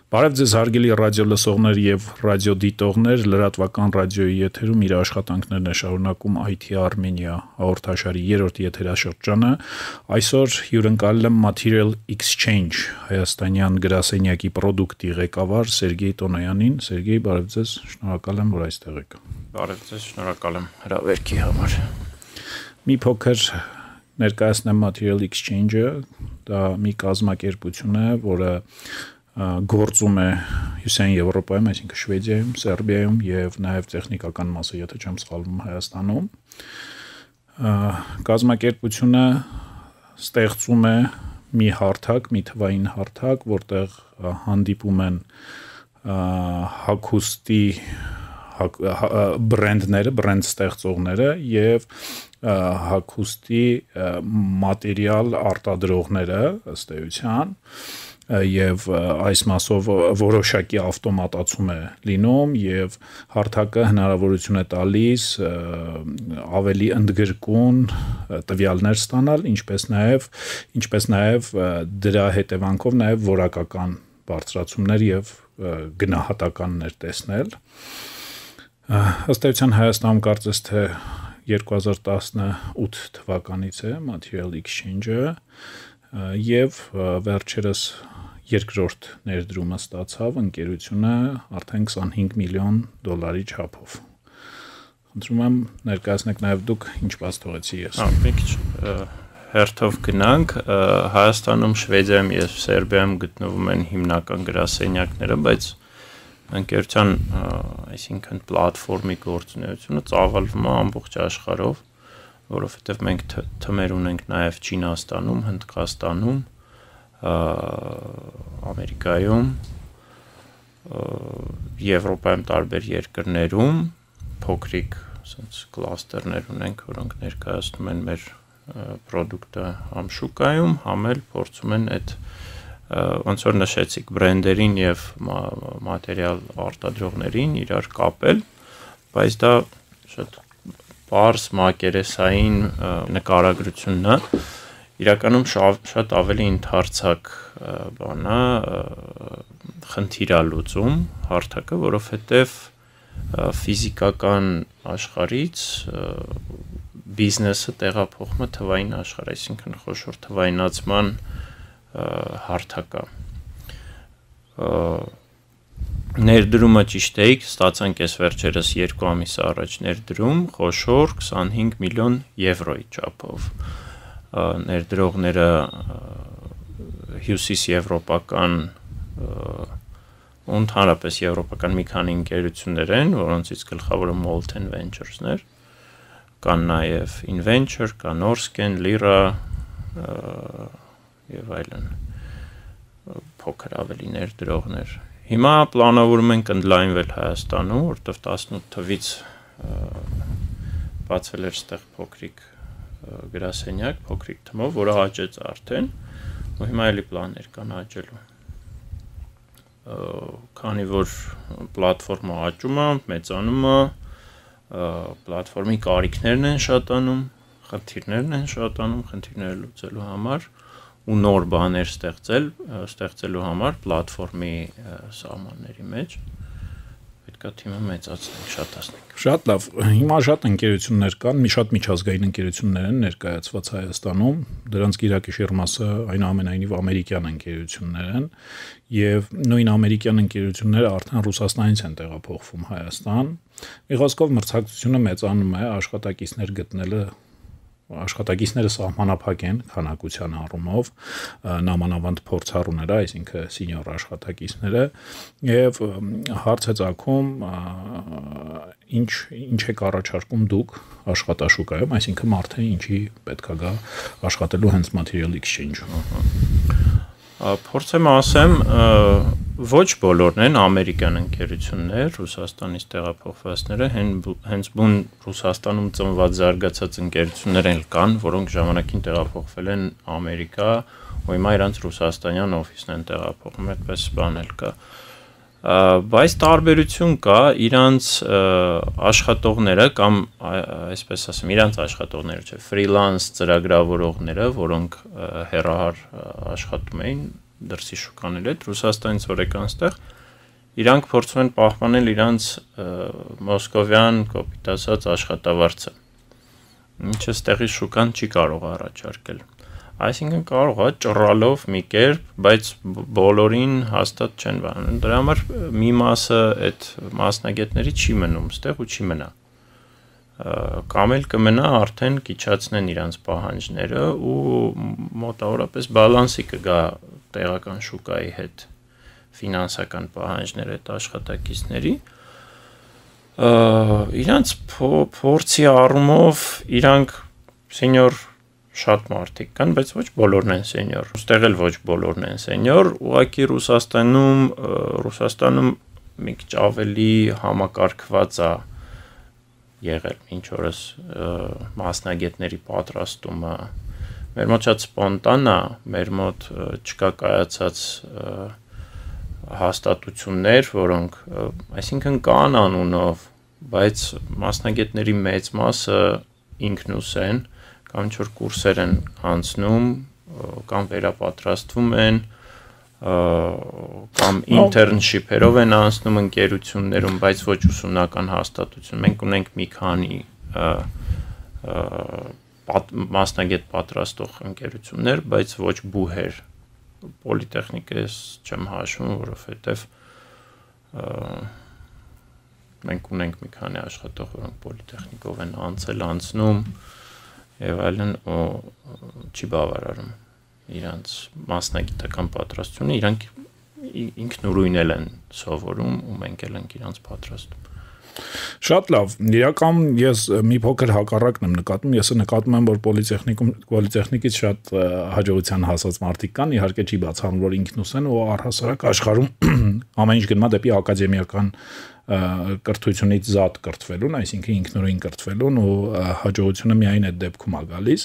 Բարև ձեզ հարգելի ռադիո լսողներ եւ ռադիոդիտողներ, լրատվական ռադիոյի եթերում իր աշխատանքներն է շարունակում IT Armenia հաղորդաշարի 3-րդ եթերաշրջանը։ Այսօր հյուրընկալել եմ Material Exchange հայաստանյան գրասենյակի պրոդուկտի ղեկավար Սերգեյ Տոնոյանին։ Սերգեյ, բարև ձեզ, շնորհակալ եմ, որ այստեղ եք։ Բարև ձեզ, շնորհակալ եմ հրավերքի համար։ Մի փոքր ներկայացնեմ Material Exchange-ը, դա մի կազմակերպություն է, որը գործում է Հյուսիսային Եվրոպայում, այսինքն Շվեդիայում, Սերբիայում եւ նաեւ տեխնիկական մասը, եթե չեմ սխալվում, Հայաստանում։ Կազմակերպությունը ստեղծում է մի հարթակ, մի թվային հարթակ, որտեղ հանդիպում են հագուստի բրենդները, բրենդ ստեղծողները եւ հագուստի մատերիալ արտադրողները ըստ էության եւ այս մասով որոշակի ավտոմատացում է լինում եւ հարթակը հնարավորություն է տալիս ավելի ընդգրկուն տվյալներ ստանալ, ինչպես նաեւ դրա հետևանքով նաեւ որակական բարձրացումներ եւ գնահատականներ տեսնել։ Ըստ էության Հայաստանում կարծես թե 2018 թվականից է Material Exchange-ը եւ վերջերս երկրորդ ներդրումը ստացավ ընկերությունը արդեն $25 միլիոն չափով։ Խնդրում եմ ներկայացնեք նաև դուք ինչ բաց թողեցի ես։ Մի քիչ հերթով գնանք, Հայաստանում, Շվեդիայում եւ Սերբիայում գտնվում են հիմնական գրասենյակները, բայց ընկերության, այսինքն պլատֆորմի գործունեությունը ծավալվում է ամբողջ աշխարհով, որովհետեւ մենք թմեր ունենք նաև Չինաստանում, Հնդկաստանում, Ամերիկայում, Եվրոպայում տարբեր երկրներում փոքրիկ ասենց կլաստերներ ունենք, որոնք ներկայացնում են մեր պրոդուկտը համ շուկայում, համ էլ փորձում են այդ ոնց որ նշեցիք բրենդերին եւ մատերիալ արտադրողներին իրար կապել, բայց դա շատ բարձ մակերեսային նկարագրությունն է, իրականում շատ ավելի ընդարձակ բան է, խնդիր է լուծում հարթակը, որովհետեւ ֆիզիկական աշխարհից բիզնեսը տեղափոխում է թվային աշխարհ, այսինքն խոշոր թվայնացման հարթակ է։ Ներդրումը ճիշտ է, ստացանք այս վերջերս 2 ամիս առաջ ներդրում, խոշոր 25 միլիոն եվրոյի չափով։ Ներդրողները հյուսիս եվրոպական ու ընդհանրապես եվրոպական մի քանի ընկերություններ են, որոնցից գլխավորը Molten Ventures-ներ, կան նաև InVenture, կա Norsken, Lyra եւ այլն փոքր ավելի ներդրողներ։ Հիմա պլանավորում ենք ընդլայնվել Հայաստանում, որտեղ 18 թվից բացվել էր այդտեղ փոքրիկ գրասենյակ, փոքրիկ թմով, որը աճեց արդեն, ու հիմա էլի պլաններ կան աճելու։ Քանի որ պլատֆորմը աճում է, մեծանում է, պլատֆորմի կարիքներն են շատանում, խնդիրները լուծելու համար ու նոր բաներ ստեղծելու համար պլատֆորմի սահմանների մեջ պետք է թիմը մեծացնենք, շատացնենք։ Շատ լավ։ Հիմա շատ ընկերություններ կան, շատ միջազգային ընկերություններ են ներկայացված Հայաստանում, դրանց գիրակիշիռ մասը այնուամենայնիվ ամերիկյան ընկերություններ են, եւ նույն ամերիկյան ընկերությունները արդեն Ռուսաստանից են տեղափոխվում Հայաստան։ Մի խոսքով մրցակցությունը մեծանում է, աշխատակիցները սահմանափակ են քանակության առումով, նամանավանդ փորձառուները, այսինքն սենյոր աշխատակիցները, եւ հարց է ծագում, ինչ եք առաջարկում դուք աշխատաշուկայում, այսինքն մարդը ինչի պետք է գա աշխատելու հենց Material Exchange-ում։ Փորձեմ ասեմ, ոչ բոլորն են ամերիկյան ընկերություններ, Ռուսաստանից տեղափոխվածները, հենց բուն Ռուսաստանում ծնված զարգացած ընկերություններ են կան, որոնք ժամանակին տեղափոխվել են Ամերիկա, ու հիմա իրանց ռուսաստանյան օֆիսն են տեղափոխում, այդպես բան էլ կա։ Բայց տարբերություն կա, իրանց աշխատողները կամ այսպես ասեմ, իրանց աշխատողները չէ, ֆրիլանս ծրագրավորողները, որոնք հեռահար աշխատում էին, դրսի շուկաների հետ, Ռուսաստանից որ եկան այստեղ, իրանք փորձում են պահպանել իրանց մոսկովյան կոպիտ ասած աշխատավարձը, ինչը ստեղի շուկան չի կարող առաջարկել։ Այսինքն կարող է ճռալով մի կերպ, բայց բոլորին հաստատ չեն բանում։ Դրա համար մի մասը այդ մասնագետների չի մնում այստեղ ու չի մնա։ Կամ էլ կմնա արդեն կիչացնեն իրանց պահանջները ու մոտավորապես բալանսի կգա տեղական շուկայի հետ ֆինանսական պահանջները այդ աշխատակիցների իրանց փորձի առումով իրանք սենյոր շատ մարդիկ կան, բայց ոչ բոլորն են սենյոր։ Ոստեղ էլ ոչ բոլորն են սենյոր, ուղղակի Ռուսաստանում մի քիչ ավելի համակարգված է եղել ինչ օրս մասնագետների պատրաստումը։ Մեր մոտ շատ սպոնտան է, մեր մոտ չկա կայացած հաստատություններ, որոնք, այսինքն կան անունով, բայց մասնագետների մեծ մասը ինքնուս են, կամ ինչ-որ կուրսեր են անցնում, կամ վերապատրաստվում են, կամ internship-երով են անցնում ընկերություններում, բայց ոչ ուսումնական հաստատություն։ Մենք ունենք մի քանի մասնագետ պատրաստող ընկերություններ, բայց ոչ բուհեր։ Պոլիտեխնիկես չեմ հաշվում, որովհետև մենք ունենք մի քանի աշխատող, որոնք պոլիտեխնիկով են անցնում եւ այլն, չի բավարարում իրանց մասնագիտական պատրաստությունը, իրանք ինքնուրույն են սովորում ու մենք էլ ենք իրանց պատրաստում։ Շատ լավ, իրական ես մի փոքր հակառակն եմ նկատում, ես նկատում եմ, որ պոլիտեխնիկից շատ հաջողության հասած մարդիկ կան, իհարկե չի բացառում, որ ինքնուս են ու առհասարակ աշխարհում ամեն ինչ գնում է դեպի ակադեմիական կրթությունից զատ կրթվելուն, այսինքն ինքնուրույն կրթվելուն ու հաջողությունը միայն այդ դեպքում է գալիս։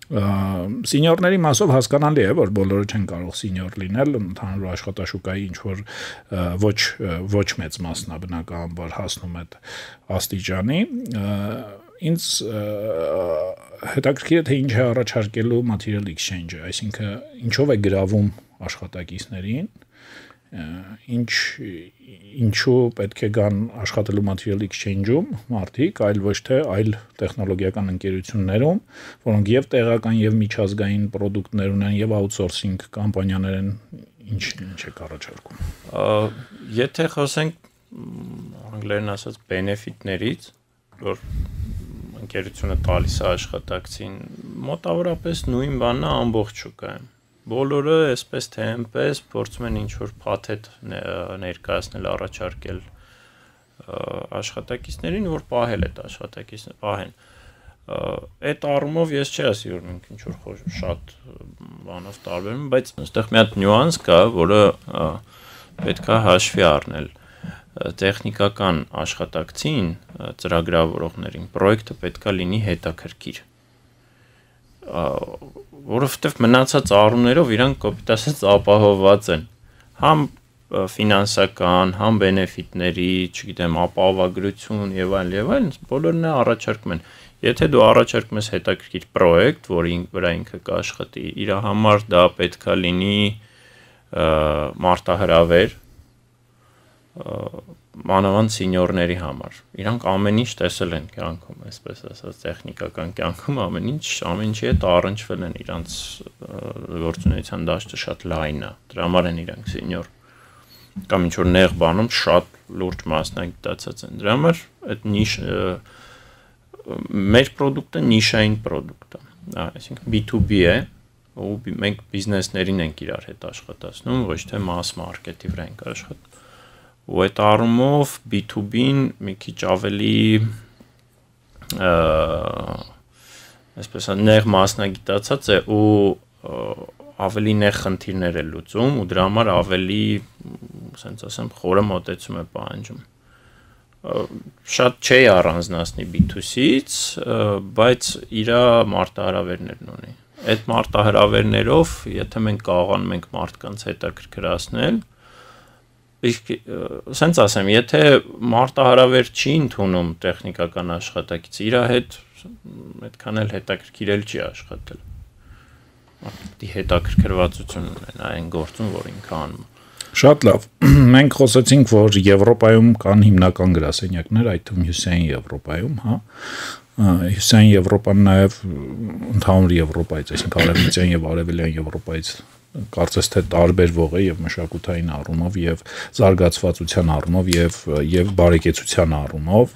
Սենյորների մասով հասկանալի է, որ բոլորը չեն կարող սենյոր լինել, ընդհանուր աշխատաշուկայի ինչ որ ոչ մեծ մասն է բնականաբար հասնում այդ աստիճանի։ Ինձ հետաքրքիր է թե ինչ է առաջարկելու material exchange-ը, այսինքն ինչով է գրավում աշխատակիցներին, ինչու պետք է գան աշխատելու material exchange-ում մարդիկ, այլ ոչ թե այլ տեխնոլոգիական ընկերություններում, որոնք եւ տեղական եւ միջազգային պրոդուկտներ ունեն եւ outsourcing կամպանիաներ են, ինչ է առաջարկում։ Եթե խոսենք անգլերեն ասած benefit-ներից, որ ընկերությունը տալիս է աշխատակցին, մոտավորապես նույն բանն է ամբողջ շուկայում։ Բոլորը այսպես թե այնպես փորձում են ինչ-որ փաթեթ ներկայացնել, առաջարկել աշխատակիցներին, որ պահել այդ աշխատակիցները, պահեն։ Այդ առումով ես չի ասի, որ մենք ինչ-որ շատ բանով տարբերում, բայց այստեղ մի հատ նյուանս կա, որը պետք է հաշվի առնել։ Տեխնիկական աշխատակցին, ծրագրավորողներին, պրոյեկտը պետք է լինի հետաքրքիր։ Որովհետև մնացած առումներով իրանք կոպիտ ասած ապահովված են, համ ֆինանսական, համ բենեֆիտների, չգիտեմ, ապահովագրություն եւ այլն, բոլորն է առաջարկում են։ Եթե դու առաջարկում ես հետաքրքիր պրոյեկտ, որի վրա ինքը կաշխատի, իր համար դա պետք է լինի մարտահրավեր, մանավանդ սենյորների համար։ Իրանք ամեն ինչ տեսել են կյանքում, այսպես ասած, տեխնիկական կյանքում ամեն ինչի հետ առնչվել են, իրանց գործունեության դաշտը շատ լայն է, դրա համար են իրանք սենյոր, կամ ինչ-որ նեղ բանում շատ լուրջ մասնագիտացած են, դրա համար այդ մեր պրոդուկտը նիշային պրոդուկտ է, այսինքն B2B է, ու մենք բիզնեսներին ենք իրար հետ աշխատացնում, ոչ թե mass market-ի վրա ենք աշխատում։ Ու այդ առումով B2B-ն մի քիչ ավելի այսպես նեղ մասնագիտացած է ու ավելի նեղ խնդիրներ է լուծում ու դրա համար ավելի, ասենց ասեմ, խորը մոտեցում է պահանջում։ Շատ չի առանձնացնի B2C-ից, բայց իր մարտահրավերներն ունի։ Այդ մարտահրավերներով, եթե մենք կարողանում ենք մարդկանց հետաքրքրացնել, իսկ ասենց ասեմ, եթե մարտահրավեր չի ընդունում տեխնիկական աշխատակից, իր հետ այդքան էլ հետաքրքիրել չի աշխատել։ դի հետաքրքրվածություն ունեն այն գործում, որ ինքը անում։ Շատ լավ։ Մենք խոսեցինք, որ Եվրոպայում կան հիմնական գրասենյակներ, այդ թվում Հյուսիսային Եվրոպայում, հա։ Հյուսիսային Եվրոպան նաև ընդհանուր Եվրոպայից, այսինքն Արևմտյան եւ Արևելյան Եվրոպայից կարծես թե տարբերվող է եւ մշակութային առումով եւ զարգացվածության առումով եւ բարեկեցության առումով։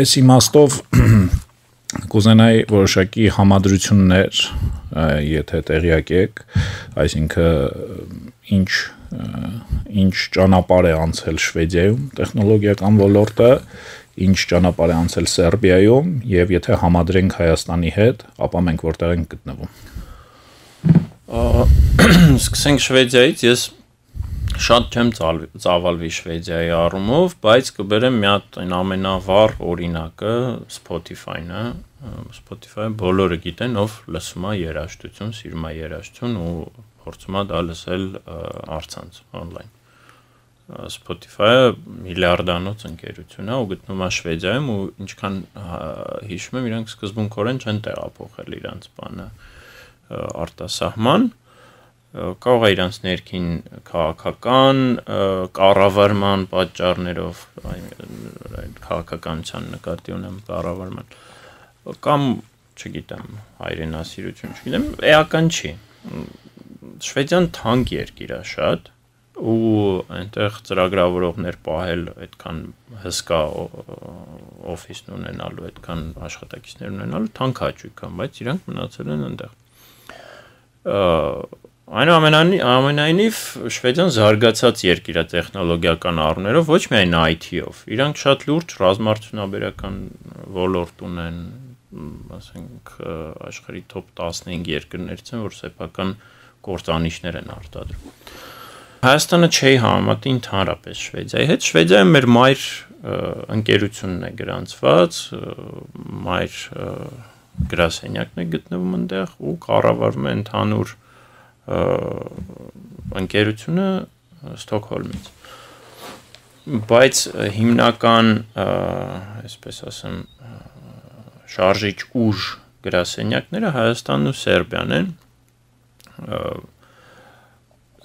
Այս իմաստով կուզենայի որոշակի համադրություններ, եթե տեղյակ եք, այսինքն ինչ ճանապարհ է անցել Շվեդիայում տեխնոլոգիական ոլորտը, ինչ ճանապարհ է անցել Սերբիայում եւ եթե համադրենք Հայաստանի հետ, ապա մենք որտեղ ենք գտնվում։ Սկսենք Շվեդիայից, ես շատ չեմ ծավալվի Շվեդիայի առումով, բայց կբերեմ մի հատ այն ամենավառ օրինակը Spotify-ն է, Spotify-ը բոլորը գիտեն, ով լսում է երաժշտություն, սիրում է երաժշտություն ու փորձում է դա լսել առցանց on-line։ Spotify-ը միլիարդանոց ընկերություն է ու գտնվում է Շվեդիայում ու ինչքան հիշում եմ, իրանք սկզբունքորեն չեն տեղափոխել իրանց բանը արտասահման, կարող է իրանց ներքին քաղաքական կառավարման պատճառներով, քաղաքականության նկատի ունեմ կառավարման, կամ չգիտեմ, հայրենասիրություն, չգիտեմ, էական չի։ Շվեդիան թանկ երկիր է շատ ու այնտեղ ծրագրավորողներ պահել այդքան հսկա օֆիսն ունենալու, այդքան աշխատակիցներ ունենալու թանկ հաճույք է, բայց իրանք մնացել են այնտեղ։ Այնուամենայնիվ Շվեդիան զարգացած երկիր է տեխնոլոգիական առումներով, ոչ միայն IT-ով, իրանք շատ լուրջ ռազմարտությունաբերական ոլորտ ունեն, ասենք աշխարհի top 15 երկրներից են, որ սեփական կործանիչներ են արտադրում։ Հայաստանը չի համեմատի ընդհանրապես Շվեդիայի հետ, Շվեդիայում մեր մայր ընկերությունն է գրանցված, մայր գրասենյակն է գտնվում այնտեղ ու կառավարում է ընդհանուր ընկերությունը Ստոկհոլմից։ Բայց հիմնական, այսպես ասեմ, շարժիչ ուժ գրասենյակները Հայաստանն ու Սերբիան են։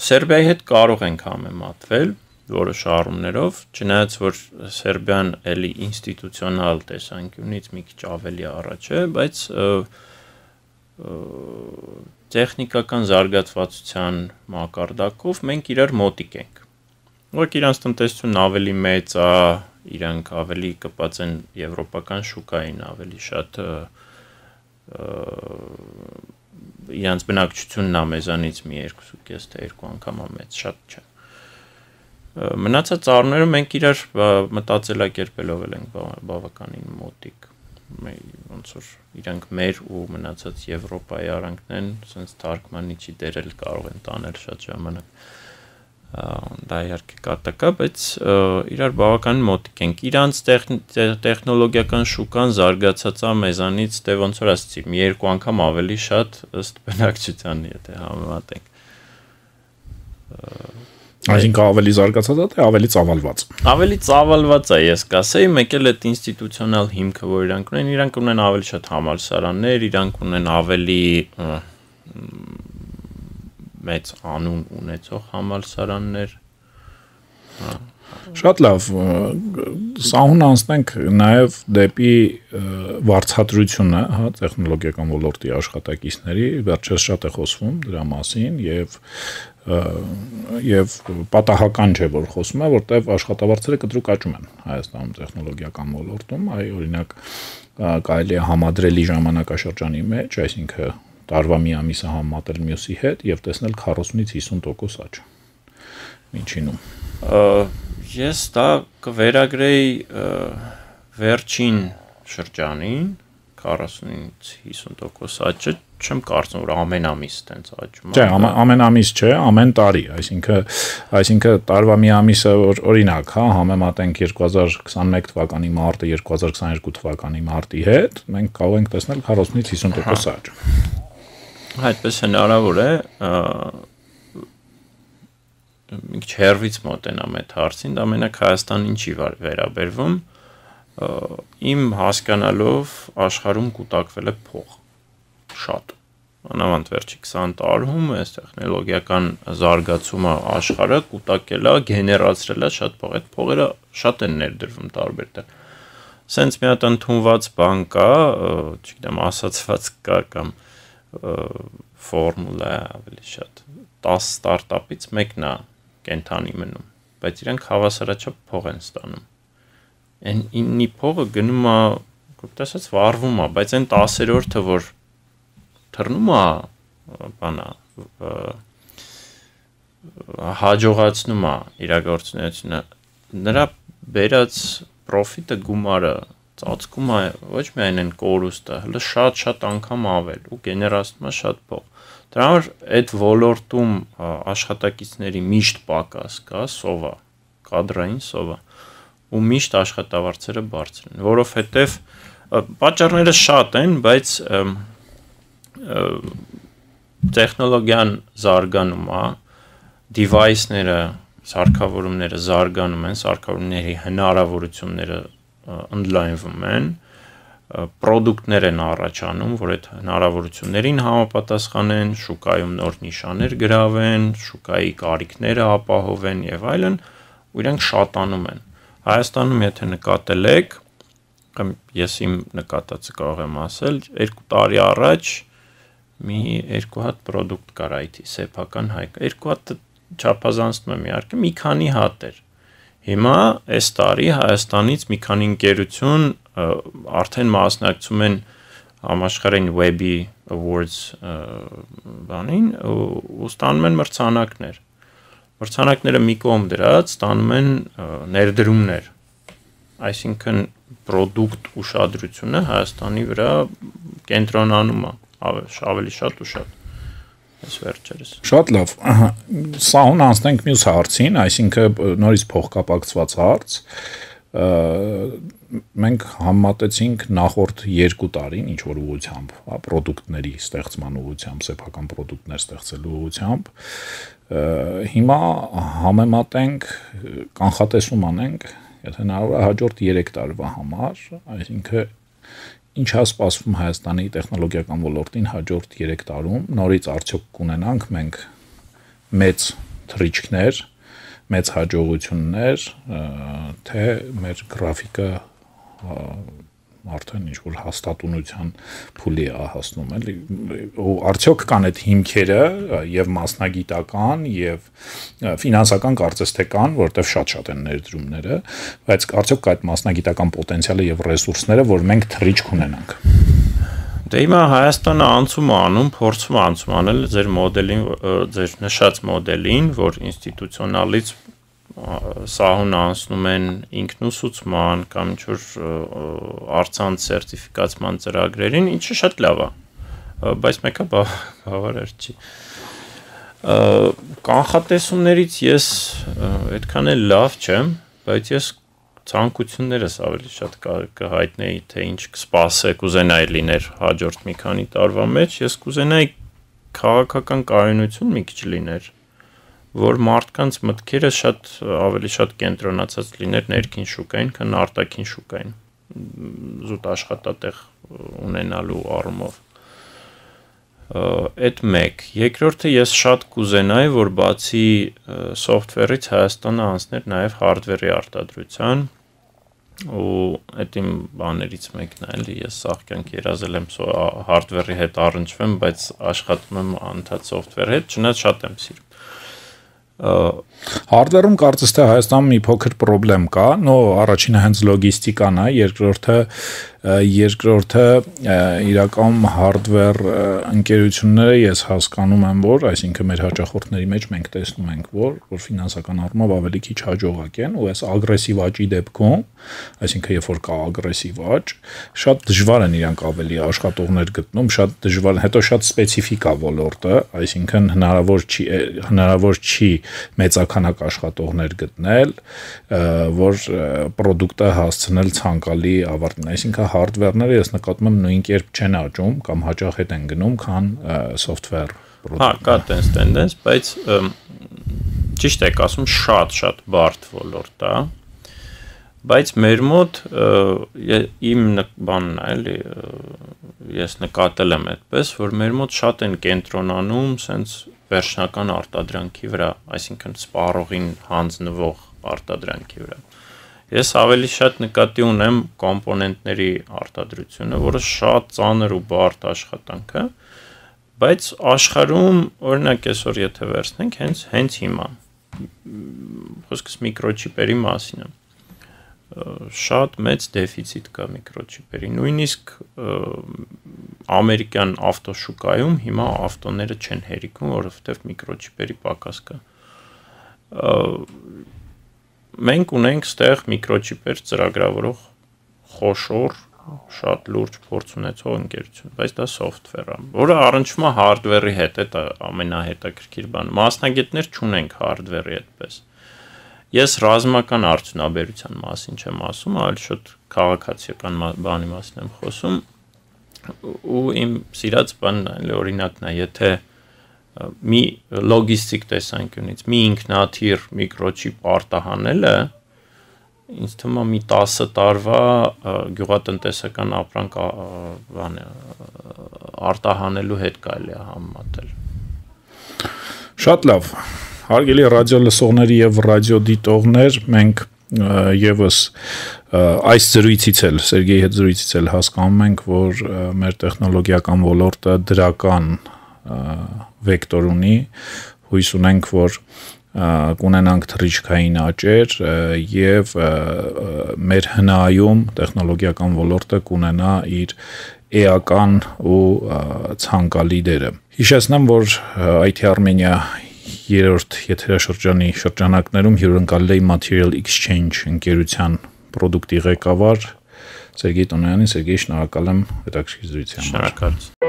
Սերբիայի հետ կարող ենք համեմատվել որոշ առումներով, չնայած որ Սերբիան էլի ինստիտուցիոնալ տեսանկյունից մի քիչ ավելի առաջ է, բայց տեխնիկական զարգացվածության մակարդակով մենք իրար մոտիկ ենք։ Որք իրանց տնտեսությունն ավելի մեծ է, իրանք ավելի կպած են եվրոպական շուկային, ավելի շատ իրանց բնակչությունն է մեզանից մի 2.5 թե 2 անգամ մեծ, շատ չէ։ Մնացած առումներում մենք իրար մտածելակերպելով ենք բավականին մոտիկ, ոնց որ իրանք մեր ու մնացած Եվրոպայի արանքն են, sense թարգմանիչի դերել կարող են տանել շատ ժամանակ, դա իհարկե կատակ է, բայց իրար բավականին մոտիկ ենք, իրանց տեխնոլոգիական շուկան զարգացած է մեզանից, դե ոնց որ ասեցի, մի 2 անգամ ավելի շատ ըստ բնակչության, եթե համեմատենք։ Այսինքն ավելի զարգացած է, թե ավելի ծավալված։ Ավելի ծավալված է, ես կասեի, մեկ էլ այդ ինստիտուցիոնալ հիմքը, որ իրանք ունեն ավելի շատ համալսարաններ, իրանք ունեն ավելի մեծ անուն ունեցող համալսարաններ։ Շատ լավ, սահուն անցնենք նաև դեպի վարձատրությունը, հա, տեխնոլոգիական ոլորտի աշխատակիցների, վերջերս շատ է խոսվում դրա մասին եւ պատահական չէ, որ խոսում է, որտեղ աշխատավարձերը կտրուկ աճում են Հայաստանում տեխնոլոգիական ոլորտում, այ օրինակ կարելի է համադրելի ժամանակաշրջանի մեջ, այսինքն տարվա մի ամիսը համատել մյուսի հետ եւ տեսնել 40-ից 50% աճ։ Ինչինում։ Ես դա կվերագրեի վերջին շրջանին 40-ից 50% աճը, չեմ կարծում որ ամեն ամիս տենց աճում է։ Չէ, ամեն ամիս չէ, ամեն տարի, այսինքն տարվա մի ամիսը օրինակ, հա, համեմատենք 2021 թվականի մարտը 2022 թվականի մարտի հետ, մենք կարող ենք տեսնել 40-ից 50% աճ։ Այդպես հնարավոր է, մի քիչ հեռվից մոտենամ այդ հարցին, դա մենակ Հայաստան ինչի վերաբերվում, իմ հասկանալով աշխարհում կուտակվել է փող, շատ, անավանդ վերջի 20 տարում այս տեխնոլոգիական զարգացումը աշխարհը կուտակել է, գեներացրել է շատ փող, այդ փողերը շատ են ներդրվում տարբեր տեղ։ Սենց մի հատ ընդունված բան կա, չգիտեմ, ասացված կա կամ ֆորմուլա ավելի շատ 10 ստարտափից մեկն է կենթանի մնում, բայց իրենք հավասարաչափ փող են ստանում։ Այն 9-ի փողը գնում է, կոպտասած վառվում է, բայց այն 10-րդը, որ թռնում է, բանա, հաջողացնում է իրագործունեությունը, նրա բերած պրոֆիտը գումարը ծածկում է ոչ միայն այն կորուստը, հələ շատ անգամ ավել ու գեներացնում է շատ փող։ Դրա համար այդ ոլորտում աշխատակիցների միշտ պակաս կա, սովա, կադրային սովա, ու միշտ աշխատավարձերը բարձր են, որովհետև պատճառները շատ են, բայց տեխնոլոգիան զարգանում է, device-ները, սարքավորումները զարգանում են, սարքավորումների հնարավորությունները ընդլայնվում են, պրոդուկտներ են առաջանում, որ այդ հնարավորություններին համապատասխանեն, շուկայում նոր նիշաներ գրավեն, շուկայի կարիքները ապահովեն եւ այլն, ու իրենք շատանում են։ Հայաստանում, եթե նկատել եք, ես իմ նկատածը կարող եմ ասել, 2 տարի առաջ մի 2 հատ պրոդուկտ կար IT սեփական հայկ, 2 հատ չափազանցնում եմ իհարկե, մի քանի հատ էր։ Հիմա այս տարի Հայաստանից մի քանի ընկերություն արդեն մասնակցում են համաշխարհային Webby Awards բանին ու ստանում են մրցանակներ։ Մրցանակները մի կողմ դրած ստանում են ներդրումներ։ Այսինքն պրոդուկտ ուշադրությունը Հայաստանի վրա կենտրոնանում է ավելի շատ ու շատ։ Այս վերջերս։ Շատ լավ։ Սահուն անցնենք մյուս հարցին, այսինքն նորից փոխկապակցված հարց։ Մենք համատեցինք նախորդ 2 տարին ինչ որ ուղղությամբ, պրոդուկտների ստեղծման ուղղությամբ, սեփական պրոդուկտներ ստեղծելու ուղղությամբ։ Հիմա համեմատենք, կանխատեսում անենք, եթե հնարավոր է հաջորդ 3 տարվա համար, այսինքն ինչ է սպասվում Հայաստանի տեխնոլոգիական ոլորտին հաջորդ 3 տարում, նորից արդյոք կունենանք մենք մեծ թռիչքներ, մեծ հաջողություններ, թե մեր գրաֆիկը արդեն ինչ որ հաստատունության փուլի է հասնում, էլի, ու արդյոք կան այդ հիմքերը եւ մասնագիտական եւ ֆինանսական կարծես թե կան, որտեվ շատ են ներդրումները, բայց արդյոք կա այդ մասնագիտական պոտենցիալը եւ ռեսուրսները, որ մենք թռիչք ունենանք։ Դե հիմա Հայաստանը անցում է անում, փորձում է անցում անել ձեր մոդելին, ձեր նշած մոդելին, որ ինստիտուցիոնալից սահուն անցնում են ինքնուսուցման կամ ինչ-որ առցանց սերտիֆիկացման ծրագրերին, ինչը շատ լավ է, բայց մեկը բավարար չի։ Կանխատեսումներից ես այդքան էլ լավ չեմ, բայց ես ցանկություններս ավելի շատ կհայտնեի, թե ինչ կսպասեք, կուզենայի լիներ հաջորդ մի քանի տարվա մեջ, ես կուզենայի քաղաքական կայունություն մի քիչ լիներ, որ մարդկանց մտքերը ավելի շատ կենտրոնացած լիներ ներքին շուկային, քան արտաքին շուկային, զուտ աշխատատեղ ունենալու առումով։ Այդ մեկ։ Երկրորդը ես շատ կուզենայի, որ բացի սոֆթվերից Հայաստանը անցներ նաև հարդվերի արտադրության, ու այդ իմ բաներից մեկն է, էլի ես սաղ կյանք երազել եմ հարդվերի հետ առնչվեմ, բայց աշխատում եմ անդադ սոֆթվերի հետ, չնայած շատ եմ սիրում։ Hardware-ում կարծես թե Հայաստանում մի փոքր խնդրեմ կա, նո առաջինը հենց լոգիստիկան է, երկրորդը իրականում hardware ընկերությունները ես հասկանում եմ, որ այսինքն մեր հաճախորդների մեջ մենք տեսնում ենք, որ ֆինանսական առումով ավելի քիչ հաջողակ են ու այս ագրեսիվ աճի դեպքում, այսինքն երբ որ կա ագրեսիվ աճ, շատ դժվար են իրանք ավելի աշխատողներ գտնում, շատ դժվար, հետո շատ սպეციფიկ է ոլորտը, այսինքն հնարավոր չի մեծականակ աշխատողներ գտնել, որ պրոդուկտը հասցնել ցանկալի ավարտին, այսինքն hardware-ները ես նկատում եմ նույն կերպ չեն աճում կամ հաճախ հետ են գնում, քան software Հա, կա տենդենս, բայց ճիշտ եք ասում, շատ բարդ ոլորտ է։ Բայց մեր մոտ իմ բանն է, էլի ես նկատել եմ այդպես, որ մեր մոտ շատ են կենտրոնանում սենց վերջնական արտադրանքի վրա, այսինքն սպառողին հանձնվող արտադրանքի վրա։ Ես ավելի շատ նկատի ունեմ կոմպոնենտների արտադրությունը, որը շատ ծանր ու բարդ աշխատանք է, բայց աշխարհում, օրինակ այսօր եթե վերցնենք, հենց հիմա խոսքս միկրոչիպերի մասին է։ Շատ մեծ դեֆիցիտ կա միկրոչիպերի։ Նույնիսկ ամերիկյան ավտոշուկայում հիմա ավտոները չեն հերիքում, որովհետև միկրոչիպերի պակաս կա։ Մենք ունենք ստեղ միկրոչիպեր ծրագրավորող խոշոր, շատ լուրջ փորձ ունեցող ընկերություն, բայց դա software է, որը առնչվում է hardware-ի հետ, դա ամենահետաքրքիր բանը։ Մասնագետներ չունենք hardware-ի այդպես։ Ես ռազմական արդյունաբերության մասին չեմ ասում, այլ շուտ քաղաքացիական բանի մասին եմ խոսում, ու իմ սիրած բանն է, օրինակն է, եթե մի լոգիստիկ տեսանկյունից մի ինքնաթիռ միկրոչիպ արտահանելը ինձ թվում է մի 10 տարվա գյուղատնտեսական ապրանք արտահանելու հետ կարելի է համեմատել։ Շատ լավ։ Հարգելի ռադիո լսողներ եւ ռադիոդիտողներ, մենք եւս այս զրույցից էլ Սերգեյի հետ զրույցից էլ հասկանում ենք, որ մեր տեխնոլոգիական ոլորտը դրական վեկտոր ունի, հույս ունենք, որ կունենանք թռիչքային աճեր եւ մեր հնայում տեխնոլոգիական ոլորտը կունենա իր էական ու ցանկալի դերը։ Հիշեցնեմ, որ IT Armenia 3-րդ եթերաշրջանի շրջանակներում հյուրընկալել էի Material Exchange ընկերության պրոդուկտի ղեկավար Սերգեյ Տոնոյանին։ Սերգեյ, շնորհակալ եմ հետաքրքիր զրույցի համար։ Շնորհակալ։